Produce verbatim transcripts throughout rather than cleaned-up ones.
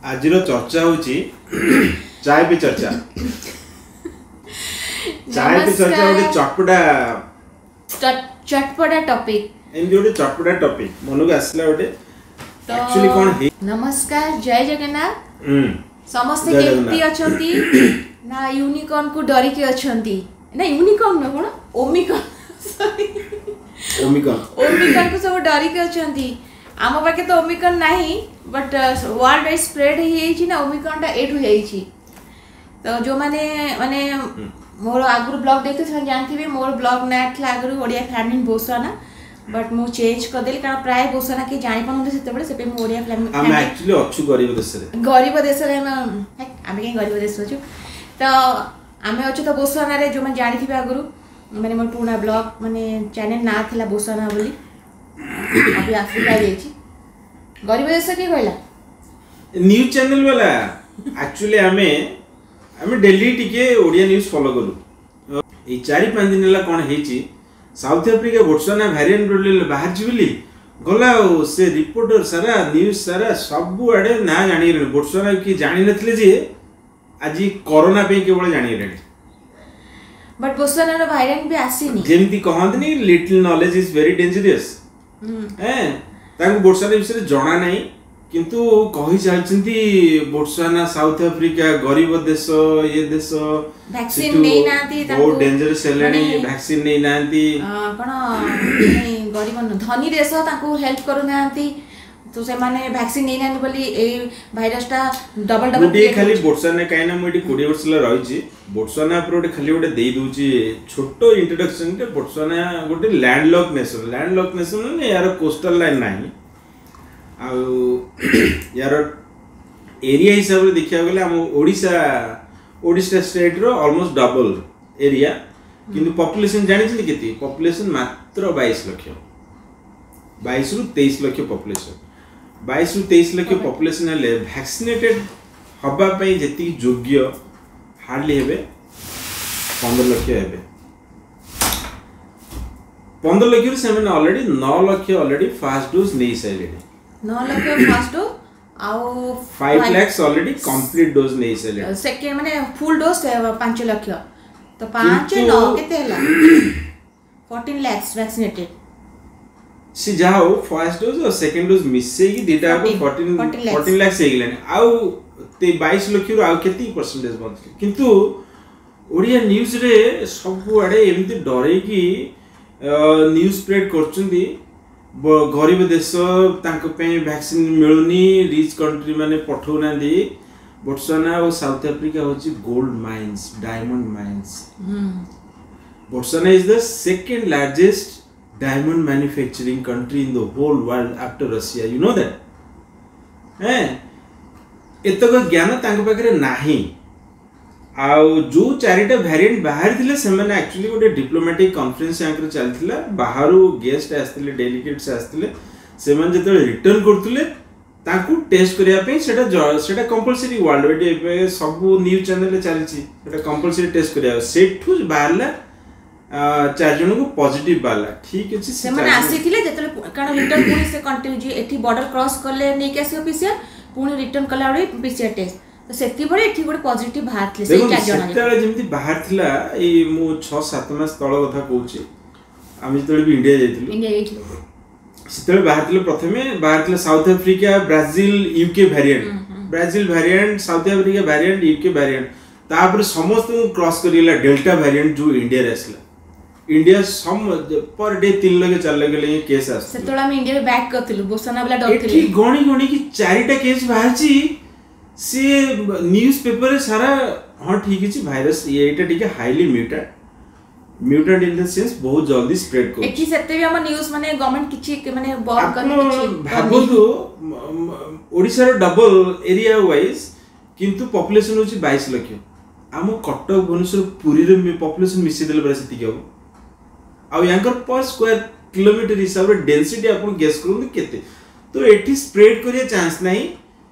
ଆଜିର ଚର୍ଚ୍ଚା ହଉଛି ଚାୟ ପେ ଚର୍ଚ୍ଚା। ଚାୟ ପେ ଚର୍ଚ୍ଚା ଗୋଟେ ଚଟପଟା ଚଟପଟା ଟପିକ। ଏମିତି ଗୋଟେ ଚଟପଟା ଟପିକ ମନକୁ ଆସିଲା ଗୋଟେ। ଆକ୍ଚୁଆଲି କଣ ହେଇ ନମସ୍କାର, ଜୟ ଜଗନ୍ନାଥ। ହୁଁ ସମସ୍ତେ ଜୟ କେମିତି ଜଗନ୍ନାଥ। ଅଛନ୍ତି ନା ୟୁନିକର୍ନ କୁ ଡରିକି ଅଛନ୍ତି? ନା ୟୁନିକର୍ନ ନା କଣ, ଓମିକର୍ନ, ସରି। ଓମିକନ୍। ଓମିକର୍ନ କୁ ସବୁ ଡରିକି ଅଛନ୍ତି। ଆମ ପାଖେ ତ ଓମିକର୍ନ ନାହିଁ, ବଟ୍ ୱାର୍ଲଡ ୱାଇଡ୍ ସ୍ପ୍ରେଡ୍ ହେଇଯାଇଛି ନା ଓମିକର୍ନଟା ଏଇଠୁ ହେଇଛି। ତ ଯେଉଁମାନେ ମାନେ ମୋର ଆଗରୁ ବ୍ଲଗ୍ ଦେଖିଥିବେ, ସେମାନେ ଜାଣିଥିବେ ମୋର ବ୍ଲଗ୍ ନାଁ ଥିଲା ଆଗରୁ ଓଡ଼ିଆ ଫ୍ୟାମିଲି ବୋସୱାନା, ବଟ୍ ମୁଁ ଚେଞ୍ଜ କରିଦେଲି, କାରଣ ପ୍ରାୟ ବୋସୱାନା କେହି ଜାଣିପାରୁନଥିଲେ ସେତେବେଳେ। ସେଥିପାଇଁ ମୁଁ ଓଡ଼ିଆ ଆମେ ଫ୍ୟାମିଲି ଆକ୍ଚୁଆଲି ଅଛୁ ଗରିବ ଦେଶରେ। ଗରିବ ଦେଶରେ ଆମେ ହେକ୍, ଆମେ କାହିଁ ଗରିବ ଦେଶ ଅଛୁ? ତ ଆମେ ଅଛୁ ତ ବୋସୱାନାରେ। ଯେଉଁମାନେ ଜାଣିଥିବେ ଆଗରୁ, ମାନେ ମୋର ପୁରୁଣା ବ୍ଲଗ୍ ମାନେ ଚ୍ୟାନେଲ୍ ନାଁ ଥିଲା ବୋସୱାନା ବୋଲି, ଅଭି ଆଫ୍ରିକା ଯାଇଛି। ଗରିବ ଦେଶ କିଏ କହିଲା? ନ୍ୟୁଜ୍ ଚ୍ୟାନେଲ ବାଲା। ଆକ୍ଚୁଆଲି ଆମେ ଆମେ ଡେଲି ଟିକେ ଓଡ଼ିଆ ନ୍ୟୁଜ୍ ଫଲୋ କରୁ। ଏଇ ଚାରି ପାଞ୍ଚ ଦିନ ହେଲା କ'ଣ ହେଇଛି, ସାଉଥ ଆଫ୍ରିକା ବୋଟ୍ସୱାନା ଭ୍ୟାରିଏଣ୍ଟ ବୋଲି ବାହାରିଛି ବୋଲି ଗଲା, ଆଉ ସେ ରିପୋର୍ଟର ସାରା, ନ୍ୟୁଜ୍ ସାରା ସବୁଆଡ଼େ ନାଁ ଜାଣିଗଲେଣି। ବୋଟ୍ସୱାନା କିଏ ଜାଣିନଥିଲେ ଯେ ଆଜି କରୋନା ପାଇଁ କେବଳ ଜାଣିଗଲେଣି। ବଟ୍ ବୋସୱାନାର ଭାରିଏଣ୍ଟ ବି ଆସିନି। ଯେମିତି କହନ୍ତିନି, "Little knowledge is very dangerous." ଏଁ ତାଙ୍କୁ ବୋଟ୍ସୱାନା ବିଷୟରେ ଜଣା ନାହିଁ, କିନ୍ତୁ କହି ଚାଲିଛନ୍ତି ବୋଟ୍ସୱାନା, ସାଉଥ ଆଫ୍ରିକା ଗରିବ ଦେଶ, ଇଏ ଦେଶ ଭ୍ୟାକ୍ସିନ ସେଠୁ ନେଇନାହାନ୍ତି ତାଙ୍କୁ। ବହୁତ ଡେଞ୍ଜରସ୍ ହେଲାଣି। ମାନେ ଭ୍ୟାକ୍ସିନ ନେଇନାହାନ୍ତି। ଅ, କ'ଣ ମାନେ ଗରିବ ନୁହଁ, ଧନୀ ଦେଶ ତାଙ୍କୁ ହେଲ୍ପ କରୁନାହାନ୍ତି, ତ ସେମାନେ ଭ୍ୟାକ୍ସିନ ନେଇନାହାନ୍ତି ବୋଲି ଏଇ ଭାଇରସଟା ଡବଲ ମୁଁ ଡବଲ ଟିକେ ଖାଲି ବୋଟ୍ସୱାନା, କାହିଁକି ନା ମୁଁ ଏଠି କୋଡ଼ିଏ ବର୍ଷ ହେଲା ରହିଛି, ବୋଟ୍ସୱାନା ଉପରେ ଗୋଟେ ଖାଲି ଗୋଟେ ଦେଇ ଦଉଛି ଛୋଟ ଇଣ୍ଟ୍ରୋଡକ୍ସନଟେ। ବୋଟ୍ସୱାନା ଗୋଟେ landlocked nation. Landlocked nation ମାନେ ଏହାର କୋଷ୍ଟାଲ ଲାଇନ୍ ନାହିଁ। ଆଉ ୟାର ଏରିଆ ହିସାବରେ ଦେଖିବାକୁ ଗଲେ ଆମ ଓଡ଼ିଶା ଓଡ଼ିଶା ଷ୍ଟେଟ୍ର ଅଲମୋଷ୍ଟ ଡବଲ ଏରିଆ। କିନ୍ତୁ ପପୁଲେସନ ଜାଣିଛନ୍ତି କେତେ? ପପୁଲେସନ ମାତ୍ର ବାଇଶ ଲକ୍ଷ, ବାଇଶରୁ ତେଇଶ ଲକ୍ଷ ପପୁଲେସନ। ବାଇଶରୁ ତେଇଶ ଲକ୍ଷ ପପୁଲେସନ ହେଲେ ଭ୍ୟାକ୍ସିନେଟେଡ୍ ହବା ପାଇଁ ଯେତିକି ଯୋଗ୍ୟ ହାର୍ଡଲି ହେବେ ପନ୍ଦର ଲକ୍ଷ ହେବେ। ପନ୍ଦର ଲକ୍ଷରୁ ସେମାନେ ଅଲରେଡି ନଅ ଲକ୍ଷ ଅଲରେଡି ଫାଷ୍ଟ ଡୋଜ୍ ନେଇ ସାରିଲେଣି। ନଅ ଲକ୍ଷ ଫାଷ୍ଟ ଡୋଜ୍ ଆଉ five lakhs already complete dose ନେଇ ସାରିଲେଣି। ସେକେଣ୍ଡ ମାନେ ଫୁଲ୍ ଡୋଜ୍ ପାଞ୍ଚ ଲକ୍ଷ। ତ ପାଞ୍ଚ କିନ୍ତୁ- ନଅ କେତେ ହେଲା? Fourteen lakhs vaccinated. ସେ ଯାହା ହଉ, ଫାର୍ଷ୍ଟ ଡୋଜ୍ ଆଉ ସେକେଣ୍ଡ ଡୋଜ୍ ମିଶେଇକି ଦିଟା ଯାକ fourteen fourteen lakhs। Fourteen lakhs ହେଇଗଲାଣି। ଆଉ ତେ- ବାଇଶ ଲକ୍ଷରୁ ଆଉ କେତିକି ପରସେଣ୍ଟେଜ ବଞ୍ଚିଲେ? କିନ୍ତୁ ଓଡ଼ିଆ ନ୍ୟୁଜ୍ରେ ସବୁଆଡ଼େ ଏମିତି ଡରେଇକି ନ୍ୟୁଜ୍ ସ୍ପ୍ରେଡ୍ କରୁଛନ୍ତି, ବ- ଗରିବ ଦେଶ, ତାଙ୍କ ପାଇଁ ଭ୍ୟାକ୍ସିନ୍ ମିଳୁନି, ରିଚ୍ କଣ୍ଟ୍ରି ମାନେ ପଠଉନାହାନ୍ତି। ବୋଟ୍ସୱାନା ଆଉ ସାଉଥ ଆଫ୍ରିକା ହେଉଛି gold mines, diamond mines. Botswana is the second largest diamond manufacturing country in the whole world after Russia. You know that? ହେଁ ଏତକ ଜ୍ଞାନ ତାଙ୍କ ପାଖରେ ନାହିଁ। ଆଉ ଯୋଉ ଚାରିଟା ଭ୍ୟାରିଏଣ୍ଟ ବାହାରିଥିଲେ, ସେମାନେ ଆକ୍ଚୁଆଲି ଗୋଟେ ଡିପ୍ଲୋମାଟିକ୍ କନଫରେନ୍ସ ୟାଙ୍କର ଚାଲିଥିଲା, ବାହାରୁ ଗେଷ୍ଟ ଆସିଥିଲେ, ଡେଲିଗେଟ୍ସ ଆସିଥିଲେ। ସେମାନେ ଯେତେବେଳେ ରିଟର୍ନ କରୁଥିଲେ, ତାଙ୍କୁ ଟେଷ୍ଟ କରିବା ପାଇଁ ସେଟା ଜ- ସେଟା କମ୍ପଲସରି ୱାର୍ଲଡ ୱାଇଡ୍, ଏବେ ସବୁ ନ୍ୟୁଜ୍ ଚ୍ୟାନେଲରେ ଚାଲିଛି, ସେଟା କମ୍ପଲସରି ଟେଷ୍ଟ କରିବା। ସେଠୁ ବାହାରିଲା, ଆ, ଚାରି ଜଣଙ୍କୁ ପଜିଟିଭ ବାହାରିଲା। ଠିକ ଅଛି, ସେ ସେମାନେ ଚାରି ଜଣ- ଆସିଥିଲେ ଯେତେବେଳେ, କାରଣ ରିଟର୍ନ ପୁଣି ସେ କଣ୍ଟିନ୍ୟୁ ଏଠି ବର୍ଡର କ୍ରସ୍ କଲେ ନେଇକି ଆସିବ ପିସିଆର, ପୁଣି ରିଟର୍ନ କଲା ବେଳେ ପିସିଆର ଟେଷ୍ଟ। ତ ସେତିକିବେଳେ ଏଠି ଗୋଟେ ପଜିଟିଭ ବାହାରିଥିଲେ ସେଇ ଦେଖନ୍ତୁ, ଚାରି ଜଣ। ସେତେବେଳେ ଯେମିତି ବାହାରିଥିଲା, ଏଇ ମୁଁ ଛଅ ସାତ ମାସ ତଳ କଥା କହୁଛି, ଆମେ ଯେତେବେଳେ ବି ଇଣ୍ଡିଆ ଯାଇଥିଲୁ, ଇଣ୍ଡିଆ ଯାଇଥିଲୁ। ସେତେବେଳେ ବାହାରିଥିଲେ, ପ୍ରଥମେ ବାହାରିଥିଲା south Africa, Brazil, UK variant, Brazil variant, south Africa variant, UK variant. ତାପରେ ସମସ୍ତଙ୍କୁ କ୍ରସ୍ କରିଗଲା ଡେଲ୍ଟା ଭ୍ୟାରିଏଣ୍ଟ, ଯୋଉ ଇଣ୍ଡିଆରେ ଆସିଲା। ଇଣ୍ଡିଆ ସମ ପର ଡେ ତିନି ଲକ୍ଷ ଚାରି ଲକ୍ଷ ଲେଖେ କେସ୍ ଆସୁଥିଲା। ସେତେବେଳେ ଆମେ ଇଣ୍ଡିଆରେ ବ୍ୟାକ୍ କରିଥିଲୁ, ବୋସନା ବାଲା ଏଠି ଡରୁଥିଲେ। ଗଣି ଗଣିକି ଚାରିଟା କେସ୍ ବାହାରିଛି, ସିଏ ନ୍ୟୁଜ୍ ପେପରରେ ସାରା। ହଁ, ଠିକ ଅଛି, ଭାଇରସ ଏଇଟା ଟିକେ highly mutant, mutant in the sense ବହୁତ ଜଲ୍ଦି ସ୍ପ୍ରେଡ୍ କରୁଛି। ଏଠି ସେତେ ବି ଆମ ନ୍ୟୁଜ୍ ମାନେ ଗଭର୍ଣ୍ଣମେଣ୍ଟ କିଛି ମାନେ ବନ୍ଦ ଆପଣ କରି କିଛି କରିନି। ଭାବନ୍ତୁ, ମ- ମ- ଓଡ଼ିଶାର ଡବଲ ଏରିଆ ୱାଇଜ, କିନ୍ତୁ ପପୁଲେସନ ହଉଛି ବାଇଶ ଲକ୍ଷ। ଆମ କଟକ, ଭୁବନେଶ୍ୱର, ପୁରୀର ପପୁଲେସନ ମିଶେଇ ଦେଲେ ପୁରା ସେତିକି ହବ। ଆଉ ୟାଙ୍କର ପର ସ୍କୋୟାର କିଲୋମିଟର ହିସାବରେ ଡେନ୍ସିଟି ଆପଣ ଗେସ୍ କରନ୍ତୁ କେତେ। ତ ଏଠି ସ୍ପ୍ରେଡ୍ କରିବା ଚାନ୍ସ ନାହିଁ।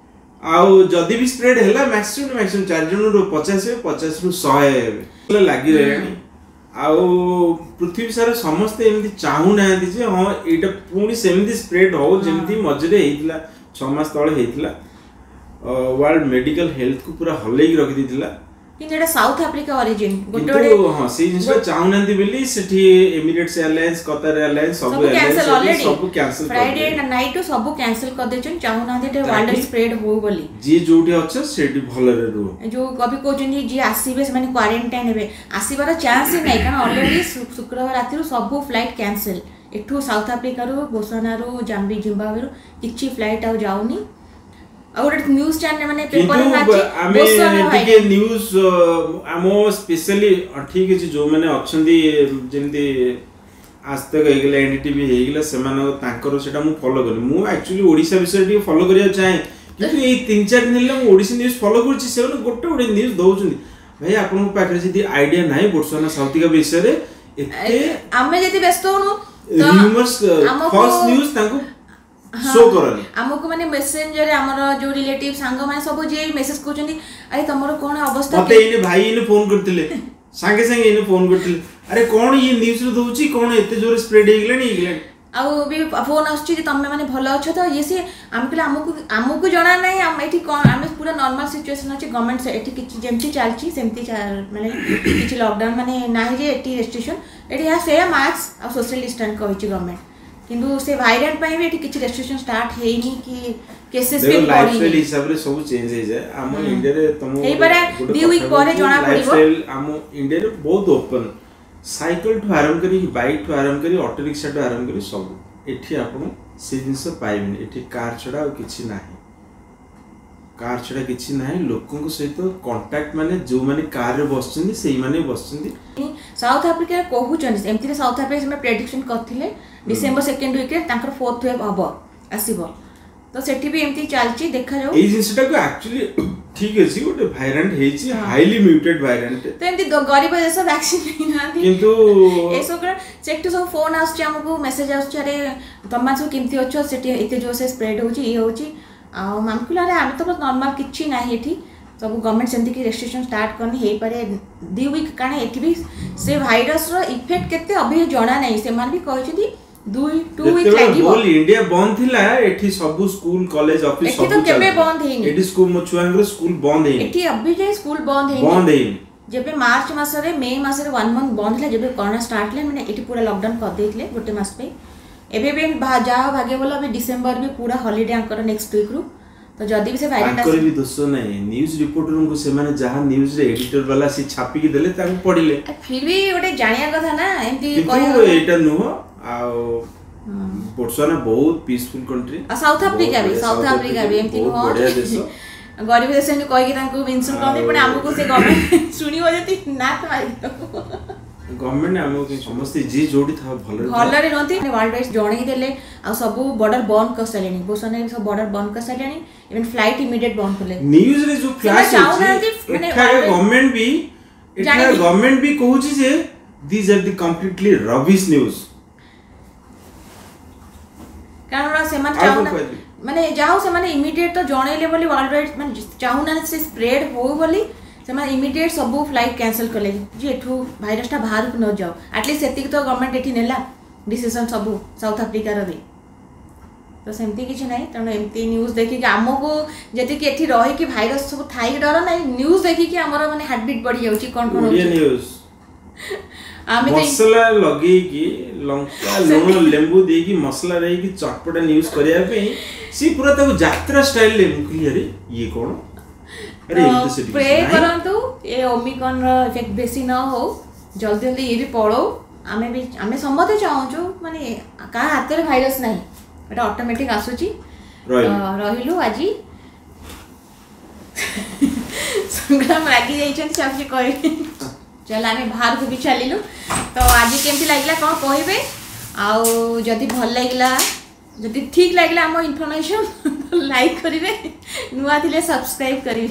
ଆଉ ଯଦି ବି ସ୍ପ୍ରେଡ୍ ହେଲା, ମ୍ୟାକ୍ସିମମ୍ ମ୍ୟାକ୍ସିମମ୍ ଚାରି ଜଣରୁ ପଚାଶ ହେବେ, ପଚାଶରୁ ଶହେ ହେବେ, ଲାଗି ରହିଲାଣି। ଆଉ ପୃଥିବୀ ସାରା ସମସ୍ତେ ଏମିତି ଚାହୁଁନାହାନ୍ତି ଯେ ହଁ, ଏଇଟା ପୁଣି ସେମିତି ସ୍ପ୍ରେଡ୍ ହଉ, ଯେମିତି ମଝିରେ ହେଇଥିଲା, ଛଅ ମାସ ତଳେ ହେଇଥିଲା। ୱାର୍ଲଡ ମେଡିକାଲ ହେଲ୍ଥକୁ ପୁରା ହଲେଇକି ରଖିଦେଇଥିଲା କିନ୍ତୁ ଏଇଟା ସାଉଥ ଆଫ୍ରିକା ଅରିଜିନ୍ ଗୋଟେ କିନ୍ତୁ ଗୋଟେ ହଁ ସେଇ ଜିନିଷଟା ଚାହୁଁନାହାନ୍ତି ବୋଲି ସେଠି ଏମିରେଟ୍ସ ଏୟାରଲାଇନ୍ସ କତାର ଏୟାରଲାଇନ୍ସ ସବୁ ସବୁ କ୍ୟାନସେଲ ଏୟାରଲାଇନ୍ସ ଅଲରେଡି ସବୁ କ୍ୟାନସେଲ ଫ୍ରାଇଡେ ନାଇଟ୍ ସବୁ କ୍ୟାନସେଲ କରିଦେଇଛନ୍ତି ଚାହୁଁନାହାନ୍ତି ଏଟା ୱାର୍ଲଡ ତାକି- ସ୍ପ୍ରେଡ୍ ହଉ ବୋଲି ଯିଏ ଯୋଉଠି ଅଛ ସେଠି ଭଲରେ ରୁହ ଯୋଉ କବି କହୁଛନ୍ତି ଯିଏ ଆସିବେ ସେମାନେ କ୍ୱାରେଣ୍ଟାଇନ୍ ହେବେ ଆସିବାର ଚାନ୍ସ ହିଁ ନାହିଁ କାରଣ ଅଲରେଡି ଶୁକ୍ରବାର ରାତିରୁ ସବୁ ଫ୍ଲାଇଟ୍ କ୍ୟାନସେଲ ଏଠୁ ସାଉଥ ଆଫ୍ରିକାରୁ ବୋତ୍ସୱାନାରୁ ଜାମ୍ବି ଜିମ୍ବାୱେରୁ କିଛି ଫ୍ଲାଇଟ୍ ଆଉ ଯାଉନି ଆଉ ଗୋଟେ ନ୍ୟୁଜ୍ ଚ୍ୟାନେଲ ମାନେ ପେପରରେ କିନ୍ତୁ ବାହାରିଛି ଆମେ ବୋତ୍ସୱାନା ଟିକେ ନ୍ୟୁଜ ଆମ ସ୍ପେଶାଲି ଠିକ ଅଛି ଯୋଉମାନେ ଅଛନ୍ତି ଯେମିତି ଆଜ ତକ ହେଇଗଲା ଏନଡିଟିଭି ହେଇଗଲା ସେମାନଙ୍କ ତାଙ୍କର ସେଟା ମୁଁ ଫଲୋ କଲି ମୁଁ ଆକ୍ଚୁଆଲି ଓଡ଼ିଶା ବିଷୟରେ ଟିକେ ଫଲୋ କରିବାକୁ ଚାହେଁ କିନ୍ତୁ ଏଇ ତିନି ଚାରି ଦିନ ହେଲା ମୁଁ ଓଡ଼ିଶା ନ୍ୟୁଜ ଫଲୋ କରୁଛି ସେମାନେ ଗୋଟେ ଗୋଟେ ନ୍ୟୁଜ ଦଉଛନ୍ତି ଭାଇ ଆପଣଙ୍କ ପାଖରେ ଯଦି ଆଇଡିଆ ନାହିଁ ବୋଟ୍ସୱାନା ସାଉଥ ଆଫ୍ରିକା ବିଷୟରେ ଏତେ ଆମେ ଯଦି ବ୍ୟସ୍ତ ହଉନୁ ତ ରିଉମର୍ସ ଆମକୁ- ଫଲ୍ସ ନ୍ୟୁଜ ତାଙ୍କୁ ଶୋ କରନି ଆମକୁ ମାନେ ମେସେଞ୍ଜରରେ ଆମର ଯୋଉ ରିଲେଟିଭ ସାଙ୍ଗମାନେ ସବୁ ଯିଏ ମେସେଜ କରୁଛନ୍ତି ଆରେ ତମର କଣ ଅବସ୍ଥା ମତେ ଏଇନେ ଭାଇ ଏଇନେ ଫୋନ କରିଥିଲେ ସାଙ୍ଗେ ସାଙ୍ଗେ ଏଇନେ ଫୋନ କରିଥିଲେ ଆରେ କଣ ଇଏ ନ୍ୟୁଜରେ ଦଉଛି କଣ ଏତେ ଜୋରେ ସ୍ପ୍ରେଡ ହେଇଗଲାଣି ହେଇଗଲାଣି ଆଉ ବି ଫୋନ ଆସୁଛି ଯେ ତମେ ମାନେ ଭଲ ଅଛ ତ ଇଏ ସିଏ ଆମେ କହିଲେ ଆମକୁ ଆମକୁ ଜଣା ନାହିଁ ଆମେ ଏଠି କଣ ଆମେ ପୁରା ନର୍ମାଲ ସିଚୁଏସନ ଅଛି ଗଭର୍ଣ୍ଣମେଣ୍ଟ ଏଠି କିଛି ଯେମିତି ଚାଲିଛି ସେମିତି ଚା- ମାନେ କିଛି ଲକଡାଉନ ମାନେ ନାହିଁ ଯେ ଏଠି ରେଷ୍ଟ୍ରିକ୍ସନ ଏଠି ଏହା ସେୟା ମାସ୍କ ଆଉ ସୋସିଆଲ ଡିଷ୍ଟାନ୍ସ କହିଛି ଗଭର୍ଣ୍ଣମେଣ୍ଟ କିନ୍ତୁ ସେ ଭାଇରାଣ୍ଟ ପାଇଁ ବି ଏଠି କିଛି ରେଷ୍ଟ୍ରିକ୍ସନ ଷ୍ଟାର୍ଟ ହେଇନି କି କେସେସ୍ ବି ଦେଖ ଲାଇଫଷ୍ଟାଇଲ ବଢିନି ହିସାବରେ ସବୁ ଚେଞ୍ଜ ହେଇଯାଏ ଆମ ଇଣ୍ଡିଆରେ ତମ ହେଇପାରେ ଦି week ପରେ ଜଣା ପଡିବ। ଲାଇଫଷ୍ଟାଇଲ ଆମ ଇଣ୍ଡିଆରେ ବହୁତ ଓପନ ସାଇକେଲ ଠୁ ଆରମ୍ଭ କରି ବାଇକ୍ ଠୁ ଆରମ୍ଭ କରି ଅଟୋ ରିକ୍ସା ଠୁ ଆରମ୍ଭ କରି ସବୁ ଏଠି ଆପଣ ସେ ଜିନିଷ ପାଇବେନି ଏଠି କାର୍ ଛଡା ଆଉ କିଛି ନାହିଁ କାର୍ ଛଡା କିଛି ନାହିଁ ଲୋକଙ୍କ ସହିତ କଣ୍ଟାକ୍ଟ ମାନେ ଯୋଉମାନେ କାରରେ ବସିଛନ୍ତି ସେଇମାନେ ବସିଛନ୍ତି ସାଉଥ ଆଫ୍ରିକାରେ କହୁଛନ୍ତି ଏମିତିରେ ସାଉଥ ଆଫ୍ରିକା ସେମାନେ ପ୍ରେଡିକ୍ସନ କରିଥିଲେ ଡିସେମ୍ବର ସେକେଣ୍ଡ ୱିକରେ ତାଙ୍କର ଫୋର୍ଥ ୱେଭ୍ ହବ ଆସିବ ତ ସେଠି ବି ଏମିତି ଚାଲିଛି ଦେଖାଯାଉ ଏଇ ଜିନିଷଟାକୁ ଆକ୍ଚୁଆଲି ଠିକ ଅଛି ଗୋଟେ ଭାଇରାଣ୍ଟ ହେଇଛି ହାଇଲି ମ୍ୟୁଟେଡ ଭାଇରାଣ୍ଟ ତ ଏମିତି ଗ- ଗରିବ ଦେଶ ଭ୍ୟାକ୍ସିନ ନେଇନାହାନ୍ତି କିନ୍ତୁ ଏସବୁ କଣ ସେଠୁ ସବୁ ଫୋନ ଆସୁଛି ଆମକୁ ମେସେଜ ଆସୁଛି ଆରେ ତମମାନେ ସବୁ କେମିତି ଅଛ ସେଠି ଏତେ ଜୋରସେ ସ୍ପ୍ରେଡ୍ ହଉଛି ଇଏ ହଉଛି ଆଉ ଆମେ କହିଲୁ ଆରେ ଆମେ ତ ନର୍ମାଲ କିଛି ନାହିଁ ଏଠି ସବୁ ଗଭର୍ଣ୍ଣମେଣ୍ଟ ସେମିତି କି ରେଷ୍ଟ୍ରିକ୍ସନ ଷ୍ଟାର୍ଟ କରିନି ହେଇପାରେ ଦି ୱିକ୍ କାରଣ ଏଠି ବି ସେ ଭାଇରସର ଇଫେକ୍ଟ କେତେ ଅଭି ଜଣା ନାହିଁ ସେମାନେ ବି କହିଛନ୍ତି ଦୁଇ ଟୁ ୱିକ୍ ଯେତେବେଳେ ଲାଗିବ ହୋଲ ଇଣ୍ଡିଆ ବନ୍ଦ ଥିଲା ଏଠି ସବୁ ସ୍କୁଲ କଲେଜ ଅଫିସ ଏଠି ତ ସବୁ କେବେ ଚାଲୁଥିଲା। ବନ୍ଦ ହେଇନି। ଏଠି ସ୍କୁଲ ମୋ ଛୁଆଙ୍କର ସ୍କୁଲ ବନ୍ଦ ହେଇନି ଏଠି ଅଭି ଯାଏ ସ୍କୁଲ ବନ୍ଦ ହେଇନି ବନ୍ଦ ହେଇନି ଯେବେ ମାର୍ଚ୍ଚ ମାସରେ ମେ ମାସରେ ୱାନ୍ ମନ୍ଥ ବନ୍ଦ ହେଲା ଯେବେ କରୋନା ଷ୍ଟାର୍ଟ ହେଲା ମାନେ ଏଠି ପୁରା ଲକଡାଉନ କରିଦେଇଥିଲେ ଗୋଟେ ମାସ ପାଇଁ ଏବେ ବି ଭା- ଯାହା ହଉ ଭାଗ୍ୟ ଭଲ ଏବେ ଡିସେମ୍ବର ବି ପୁରା ହଲିଡେ ଆଙ୍କର ନେକ୍ସଟ ୱିକ୍ରୁ ତ ଯଦି ବି ସେ ଭାଇରାଣ୍ଟ ତାଙ୍କର ବି ଦୋଷ ନାହିଁ ନ୍ୟୁଜ ରିପୋର୍ଟରଙ୍କୁ ସେମାନେ ଯାହା ନ୍ୟୁଜରେ ଏଡିଟର ବାଲା ସେ ଛାପିକି ଦେଲେ ତାଙ୍କୁ ପଢିଲେ ଫିର ବି ଗୋଟେ ଜାଣିବା କଥା ନା ଏମିତି କିନ୍ତୁ କହିବା କଥା। ଏଇଟା ନୁହଁ ଆଉ ବୋଟ୍ସୱାନା ବହୁତ ପିସଫୁଲ କଣ୍ଟ୍ରି ଆଉ ସାଉଥ ଆଫ୍ରିକା ବି ସାଉଥ ଆଫ୍ରିକା ବି ଏମିତି ବହୁତ ନୁହଁ ବଢିଆ ଦେଶ ଗରିବ ଦେଶ ଏମିତି କହିକି ତାଙ୍କୁ ମେନସନ କରନ୍ତି ପୁଣି ଆମକୁ ସେ ଗଭର୍ଣ୍ଣମେଣ୍ଟ ଶୁଣିବ ଯଦି ନା ତ ମାରିଦେବ ଗଭର୍ଣ୍ଣମେଣ୍ଟ ଆମକୁ ସମସ୍ତେ ଯିଏ ଯୋଉଠି ଥାଉ ଭଲରେ ଥାଉ। ଭଲରେ ରୁହନ୍ତି ୱାର୍ଲଡ ୱାଇଜ୍ ଜଣେଇ ଦେଲେ ଆଉ ସବୁ ବର୍ଡର ବନ୍ଦ କରିସାରିଲେଣି ବୋତ୍ସୱାନାରେ ସବୁ ବର୍ଡର ବନ୍ଦ କରିସାରିଲେଣି ଇଭେନ୍ ଫ୍ଲାଇଟ୍ ଇମିଡିଏଟ୍ ବନ୍ଦ କଲେ ନ୍ୟୁଜରେ ଯୋଉ ଫ୍ଲାଶ ସେମାନେ ଚାହୁଁନାହାନ୍ତି ମାନେ ଏଠାକାର world- government ବି ଏଠାକାର ଜାଣିନି। ଗଭର୍ଣ୍ଣମେଣ୍ଟ ବି କହୁଛି ଯେ these are the completely rubbish news କାରଣ ସେମାନେ ଆଉ କଣ ଚାହୁଁନା କହିବି? ମାନେ ଯାହା ହଉ ସେମାନେ ଇମିଡିଏଟ୍ ତ ଜଣେଇଲେ ବୋଲି ୱାର୍ଲଡ ୱାଇଡ୍ ମାନେ ଚାହୁଁନାହାନ୍ତି ସେ ସ୍ପ୍ରେଡ୍ ହଉ ବୋଲି ସେମାନେ ଇମିଡିଏଟ୍ ସବୁ ଫ୍ଲାଇଟ୍ କ୍ୟାନସେଲ୍ କଲେ ଯେ ଏଠୁ ଭାଇରସଟା ବାହାରକୁ ନ ଯାଉ ଆଟଲିଷ୍ଟ ସେତିକି ତ ଗଭର୍ଣ୍ଣମେଣ୍ଟ ଏଠି ନେଲା ଡିସିସନ୍ ସବୁ ସାଉଥ ଆଫ୍ରିକାର ବି ତ ସେମିତି କିଛି ନାହିଁ ତେଣୁ ଏମିତି ନ୍ୟୁଜ୍ ଦେଖିକି ଆମକୁ ଯେତିକି ଏଠି ରହିକି ଭାଇରସ ସବୁ ଥାଇକି ଡର ନାହିଁ ନ୍ୟୁଜ୍ ଦେଖିକି ଆମର ମାନେ ହାର୍ଟବିଟ୍ ବଢି ଯାଉଛି କ'ଣ କ'ଣ ଓଡ଼ିଆ ହଉଛି ନ୍ୟୁଜ ଆମେ ତ ମସଲା ଲଗେଇକି ଲଙ୍କା ଲୁଣ ଲେମ୍ବୁ ଦେଇକି ମସଲା ଦେଇକି ଚଟପଟା ନ୍ୟୁଜ କରିବା ପାଇଁ ସିଏ ପୁରା ତାକୁ ଯାତ୍ରା ଷ୍ଟାଇଲରେ ମୁଁ କହିଲି ଆରେ ଇଏ କଣ ଆରେ ଏମିତି ସେଠି ପ୍ରେ କିଛି ନାହିଁ। କରନ୍ତୁ ଏ ଓମିକ୍ରନର ଇଫେକ୍ଟ ବେଶୀ ନ ହଉ ଜଲ୍ଦି ଜଲ୍ଦି ଇଏ ବି ପଳଉ ଆମେ ବି ଆମେ ସମସ୍ତେ ଚାହୁଁଛୁ ମାନେ କାହା ହାତରେ ଭାଇରସ ନାହିଁ ଏଟା ଅଟୋମେଟିକ୍ ଆସୁଛି ରହିଲୁ। ତ ରହିଲୁ ଆଜି ସଂଗ୍ରାମ ରାଗି ଯାଇଛନ୍ତି ସେ ଆଉ କିଛି କହିବେ ଚାଲ ଆମେ ବାହାରକୁ ବି ଚାଲିଲୁ ତ ଆଜି କେମିତି ଲାଗିଲା କ'ଣ କହିବେ ଆଉ ଯଦି ଭଲ ଲାଗିଲା ଯଦି ଠିକ୍ ଲାଗିଲା ଆମ ଇନଫର୍ମେସନ୍ ଲାଇକ୍ କରିବେ ନୂଆ ଥିଲେ ସବସ୍କ୍ରାଇବ୍ କରିବେ